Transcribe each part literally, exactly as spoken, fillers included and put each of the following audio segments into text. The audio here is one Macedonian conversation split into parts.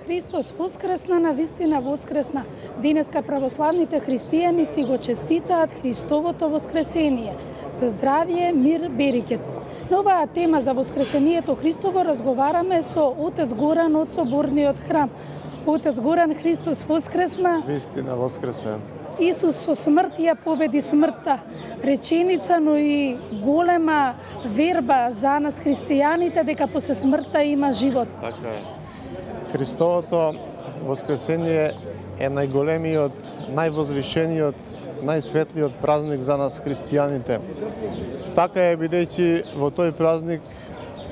Христос воскресна, на вистина воскресна. Денеска православните христијани си го честитаат Христовото воскресение. За здравје, мир, берекет. На оваа тема за воскресението Христово разговараме со отец Горан од Соборниот храм. Отец Горан, Христос воскресна. Вистина воскресен. Исус со смрт ја победи смртта. Реченица, но и голема верба за нас христијаните дека после смртта има живот. Така е. Христовото воскресение е најголемиот, највозвишениот, најсветлиот празник за нас христијаните. Така е, бидејќи во тој празник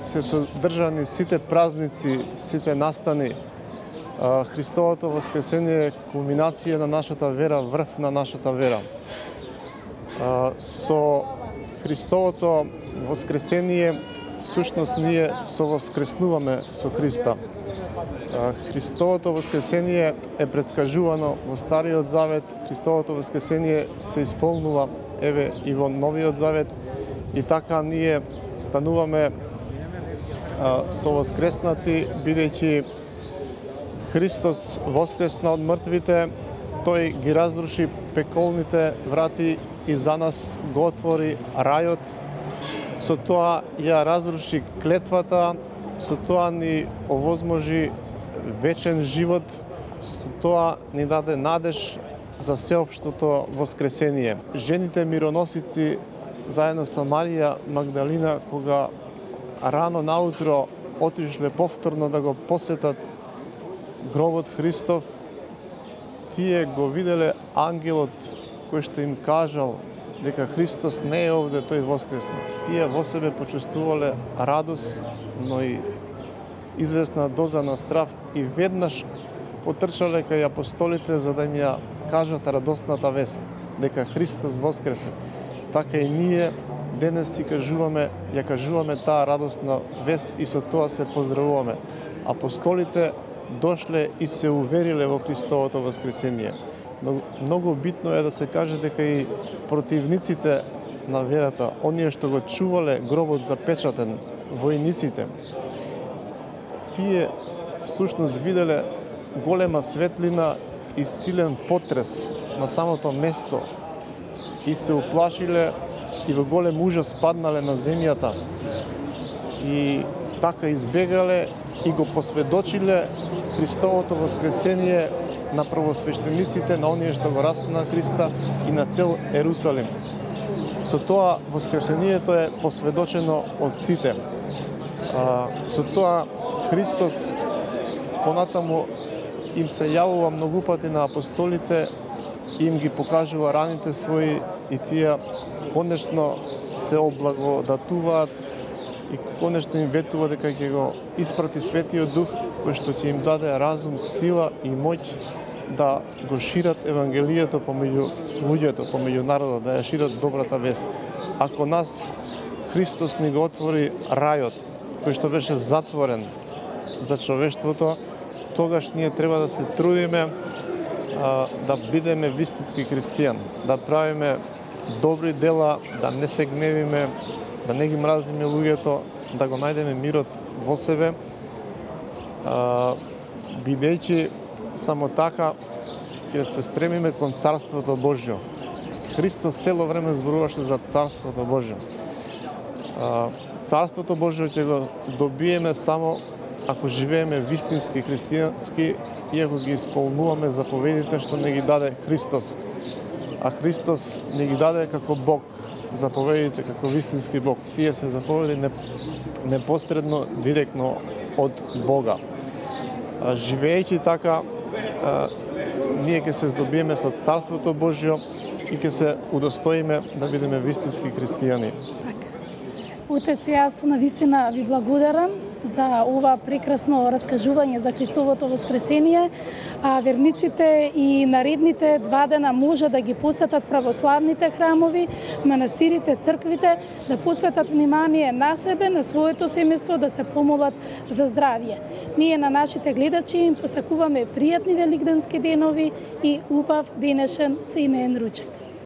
се содржани сите празници, сите настани. Христовото воскресение е кулминација на нашата вера, врв на нашата вера. Со Христовото воскресение всушност ние совоскреснуваме со Христа. Христовото воскресение е предскажувано во Стариот Завет, Христовото воскресение се исполнува еве и во Новиот Завет, и така ние стануваме совоскреснати, бидејќи Христос воскресна од мртвите, тој ги разруши пеколните врати и за нас го отвори рајот. Со тоа ја разруши клетвата, со тоа ни овозможи вечен живот, со тоа ни даде надеж за сеопштото воскресение. Жените мироносици заедно со Марија Магдалина, кога рано наутро отишле повторно да го посетат гробот Христов, тие го виделе ангелот кој што им кажал дека Христос не е овде, тој воскресна. Тие во себе почувствувале радост, но и известна доза на страв, и веднаш потрчале кај апостолите за да им ја кажат радосната вест дека Христос воскресе. Така и ние денес си кажуваме, ја кажуваме таа радосна вест и со тоа се поздравуваме. Апостолите дошле и се увериле во Христовото воскресение. Но многу битно е да се каже дека и противниците на верата, оние што го чувале гробот запечатен, војниците, тие всушност виделе голема светлина и силен потрес на самото место и се уплашиле и во голем ужас паднале на земјата. И така избегале и го посведочиле Христовото воскресение на првосвештениците, на оние што го распна Христа и на цел Ерусалим. Со тоа воскресението е посведочено од сите. Со тоа Христос понатаму им се јавува многу пати на апостолите, им ги покажува раните своји и тие конечно се облагодатуваат и конечно им ветува дека ќе го испрати Светиот Дух, кој што ќе им даде разум, сила и моќ да го шират Евангелието помеѓу луѓето, помеѓу народот, да ја шират добрата вест. Ако нас Христос ни го отвори рајот, кој што беше затворен за човештвото, тогаш ние треба да се трудиме а, да бидеме вистински христијани, да правиме добри дела, да не се гневиме, да не ги мразиме луѓето, да го најдеме мирот во себе, а, бидејќи само така ќе се стремиме кон Царството Божјо. Христос цело време зборуваше за Царството Божјо. А, Царството Божјо ќе го добиеме само ако живееме вистински христијански и ако ги исполнуваме заповедите што не ги даде Христос. А Христос не ги даде како Бог заповедите, како вистински Бог. Тие се заповеди непосредно, директно од Бога. А, живеејќи така, а, ние ќе се здобиеме со Царството Божјо и ќе се удостоиме да бидеме вистински христијани. Отец, јас навистина ви благодарам за ова прекрасно раскажување за Христовото воскресение, а верниците и наредните два дена може да ги посетат православните храмови, манастирите, црквите, да посветат внимание на себе, на своето семејство, да се помолат за здравје. Ние на нашите гледачи им посакуваме пријатни великденски денови и убав денешен семеен ручек.